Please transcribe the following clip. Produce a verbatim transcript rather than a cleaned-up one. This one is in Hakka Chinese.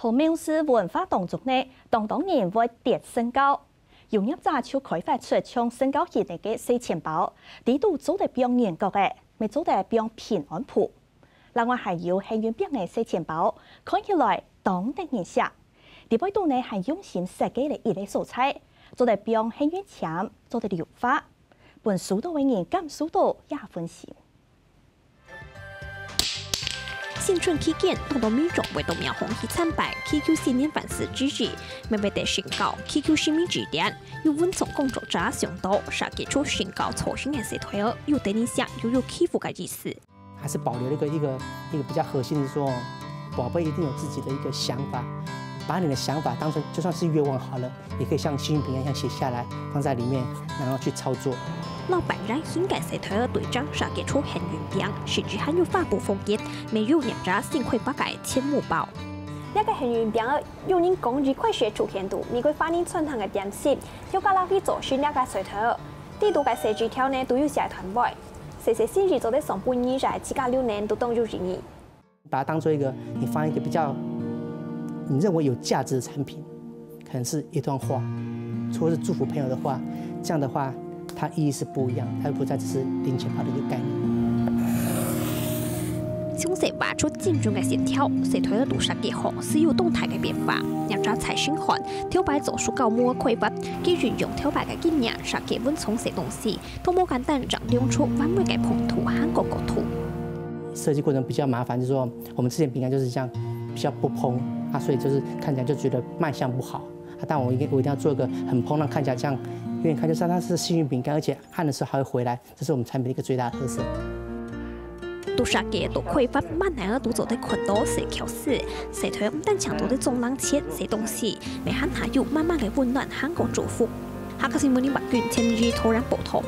在廟寺文化當中呢，當多人會擲神軄，有業者就開發出像神軄形个个細錢包，裡肚做得放銀角仔，乜做得放平安符。另外還有幸運餅个細錢包，看起來當得人惜。裡背肚呢還用心設計了一個所在，做得放幸運籤，做得留話，分收到个人感受到也溫馨。 新春期間，當多民眾為著廟方去參拜，祈求新年萬事如意，乜為著神軄祈求神明指點。有文創工作者想到，設計出神軄造型个細袋仔，有得人惜又有祈福个意思。還是保留了一個，一個，一個比較核心的說，寶貝一定有自己的一個想法，把你的想法當成就算是願望好了， 也可以像幸運餅一樣寫下來，放在裡面，然後去操作。老闆染新个細袋仔對正設計出幸運餅，甚至還有發布風格，乜有業者新規劃个錢母包。這個幸運餅仔，有人講一塊係出現在美國華人餐廳个點心，又加落去做成這個細袋仔。裡肚个細紙條呢，都有寫段位，細細心意做得送分你，在自家流年都當有意義。 把它當做一個你放一個比較你認為有價值的產品，可能是一段話，或是祝福朋友的話，這樣的話，它意義是不一樣，它又不再只是零錢包的一個概念。詳細畫出精準个線條，細袋仔都設計好，係有動態个變化。業者蔡新漢，頭擺做手工模个規劃，佢運用頭擺个經驗，設計文創細東西， 都無簡單，正亮出完美个風土還過角度。設計過程比較麻煩，就是說我們之前餅乾就是這樣比較不蓬啊，所以就是看起來就覺得賣相不好啊。但我一定，我一定要做一個很蓬，讓看起來這樣，因為你看就知道它是幸運餅乾，而且按的時候還會回來，這是我們產品的一個最大的特色。都設計都規劃，滿哪都做得看到細巧思。細袋毋單淨做得裝零錢、細東西，乜還下有滿滿个溫暖還過祝福。客家新聞林伯君、陳明宇、陶然報導。